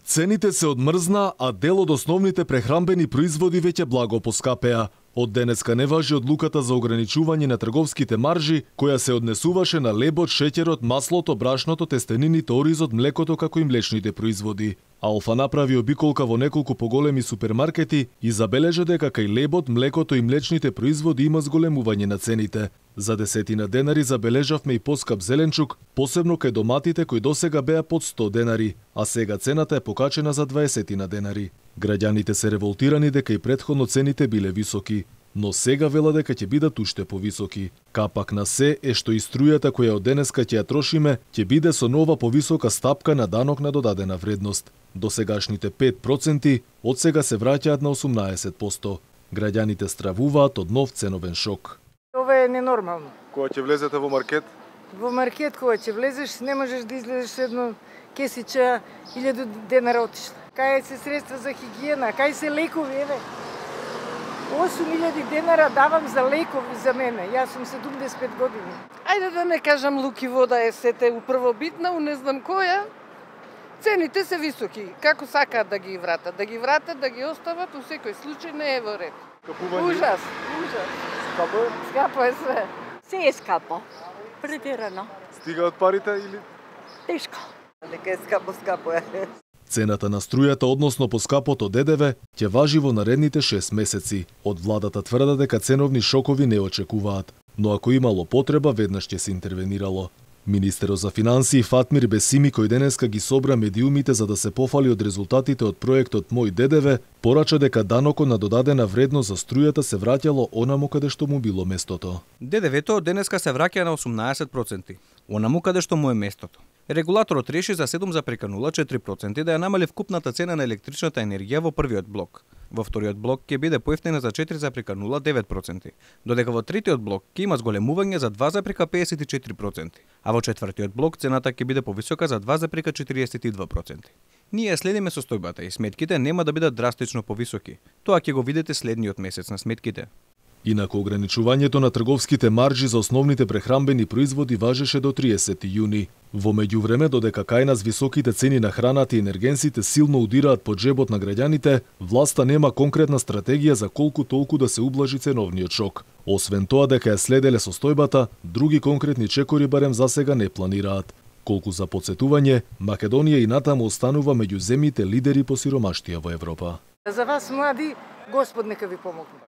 Цените се одмрзна, а дел од основните прехрамбени производи веќе благо поскапеа. Од денеска не важи одлуката за ограничување на трговските маржи, која се однесуваше на лебот, шеќерот, маслото, брашното, тестенините, оризот, млекото како и млечните производи. Алфа направи обиколка во неколку поголеми супермаркети и забележа дека кај лебот, млекото и млечните производи има зголемување на цените. За 10 денари забележавме и поскап зеленчук, посебно кај доматите кои досега беа под 100 денари, а сега цената е покачена за 20 денари. Граѓаните се револтирани дека и претходно цените биле високи, но сега вела дека ќе бидат уште повисоки. Капак на се е што и струјата која од денеска ќе ја трошиме ќе биде со нова повисока стапка на данок на додадена вредност. Досегашните 5% од сега се враќаат на 18%. Граѓаните стравуваат од нов ценовен шок. Ова е ненормално. Кога ќе влезете во маркет? Во маркет кога ќе влезеш не можеш да излезеш едно кесича 1000 денара отишла. Кај се средства за хигиена, кај се лекови, еве. 8000 денара давам за лекови за мене. Јас сум 75 години. Ајде да не кажам луки вода е сете првобитна, у не знам која. Цените се високи. Како сакаат да ги вратат? Да ги вратат, да ги остават, у секој случај не е во ред. Капување? Ужас, ужас. Скапо е? Скапо е све. Се е скапо. Претерано. Стигаат парите или? Тешко. Дека е скапо, скапо е. Цената на струјата, односно поскапото ДДВ, ќе важи во наредните 6 месеци. Од владата тврда дека ценовни шокови не очекуваат, но ако имало потреба, веднаш ќе се интервенирало. Министерот за финансии Фатмир Бесими, кој денеска ги собра медиумите за да се пофали од резултатите од проектот Мој ДДВ, порача дека данокот на додадена вредност за струјата се враќало онаму каде што му било местото. ДДВ-то од денеска се враќа на 18%, онаму каде што му е местото. Регулаторот реши за 7,04% да ја намали вкупната цена на електричната енергија во првиот блок. Во вториот блок ќе биде поевтина за 4,09%, додека во третиот блок ќе има зголемување за 2,54%, а во четвртиот блок цената ќе биде повисока за 2,42%. Ние следиме состојбата и сметките нема да бидат драстично повисоки. Тоа ќе го видите следниот месец на сметките. Инаку ограничувањето на трговските маржи за основните прехрамбени производи важеше до 30 јуни. Во меѓувреме, додека кај нас високите цени на храната и енергенсите силно удираат по џебот на граѓаните, власта нема конкретна стратегија за колку толку да се ублажи ценовниот шок. Освен тоа дека ја следеле состојбата, други конкретни чекори барем засега не планираат. Колку за потсетување, Македонија и натаму останува меѓу земјите лидери по сиромаштија во Европа. За вас, млади, Господ нека ви помогне.